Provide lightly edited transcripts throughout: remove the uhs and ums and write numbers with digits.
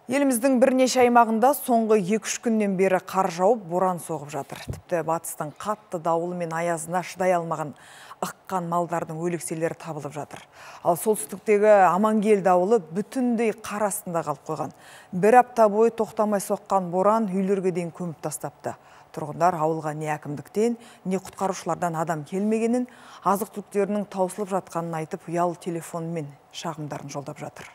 Еліміздің бірнеше аймағында соңғы 2-3 күннен бері қар жауып, боран соғып жатыр. Тіпті батыстың қатты дауылы мен аязына шыдай алмаған ыққан малдардың өлекселері табылып жатыр. Ал солтүстіктегі Амангел дауылы бүтіндей қар астында қалып қойған. Бір апта бойы тоқтамай соққан боран үйлерге дейін көміп тастапты. Тұрғындар ауылға не әкімдіктен, не құтқарушылардан адам келмегенін, азық-түліктерінің таусылып жатқанын айтып, ұялы телефонмен шағымдарын жолдап жатыр.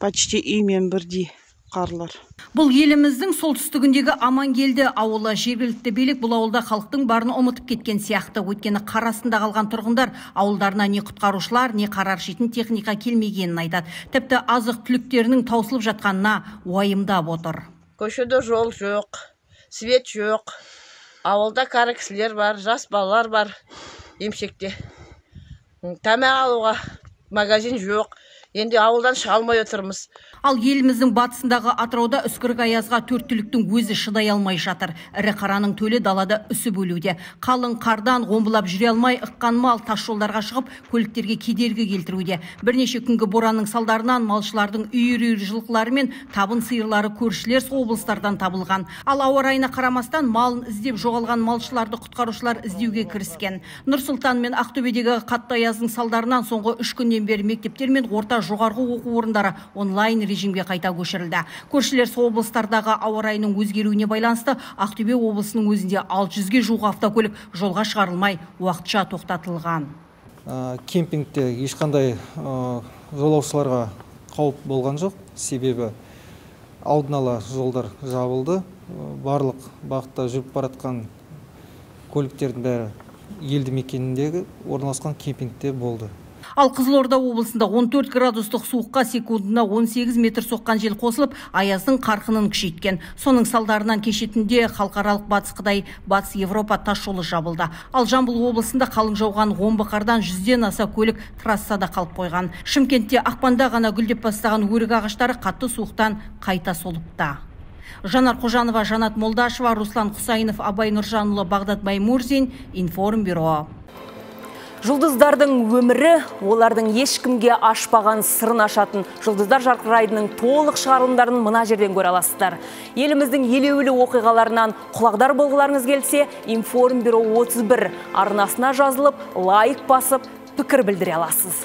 Почти үймен бірдей қарлар. Бұл еліміздің солтүстігіндегі Амангелді ауылы. Жергілікті билік бұл ауылда халықтың барын ұмытып кеткен сияқты. Өйткені қар астында қалған тұрғындар ауылдарына не құтқарушылар, не қар аршитын техника келмегенін айтады. Тіпті азық түліктерінің таусылып жатқанына уайымдап отыр. Көшеде жол жоқ, свет жоқ. Ауылда кәрі кісілер бар, жас балалар бар, емшекте. Тамақ алуға магазин жоқ. Енді ауылдан шыға алмай отырмыз. Ал еліміздің батысындағы Атырауда үскірік аязға төрт түліктің өзі шыдай алмай жатыр. Ірі қараның төлі далада үсіп өлуде. Қалың қардан омбылап жүре алмай ыққан мал тас жолдарға шығып, көліктерге кедергі келтіруде. Бірнеше күнгі боранның салдарынан малшылардың үйір-үйір жылқылары мен табын сиырлары көршілер облыстардан табылған. Ал ауа райына қарамастан малын іздеп жоғалған малшыларды құтқарушылар іздеуге кіріскен. Нұр-Сұлтан мен Ақтөбедегі қатты аяздың салдарынан соңғы 3 күннен бері мектептер мен орта жоғарғы оқу орындары онлайн режимге қайта көшірілді. Көршілер облыстардағы ауа райының өзгеруіне байланысты Ақтөбе облысының өзінде 600-ге жуық автокөлік жолға шығарылмай уақытша тоқтатылған. Кемпингте ешқандай жолаушыларға қауіп болған жоқ, себебі алдын ала жолдар жабылды. Барлық бағытта жүріп баратқан көліктердің бәрі елді мекеніндегі орналасқан кемпингте болды. Ал Қызылорда облысында 14 градустық суыққа секундына 18 метр соққан жел қосылып, аяздың қарқынын күшейткен. Соның салдарынан кеше түнде халықаралық Батыс Қытай, Батыс Европа тас жолы жабылды. Ал Жамбыл облысында қалың жауған омбы қардан 100-ден аса көлік трассада қалып қойған. Шымкентте ақпанда ғана гүлдеп бастаған өрік ағаштары қатты суықтан қайта солыпты. Жанар Қожанова, Жанат Молдашева, Руслан Құсайынов, Абай Нұржанұлы, Бағдат Баймурзин, Информбюро. Жұлдыздардың өмірі, олардың ешкімге ашпаған сырын ашатын жұлдыздар жарқырайдының толық шығарылымдарын мына жерден көре аласыздар. Еліміздің елеулі оқиғаларынан құлағдар болғыларыңыз келсе, Информбюро 31 арнасына жазылып, лайк басып, пікір білдіре аласыз.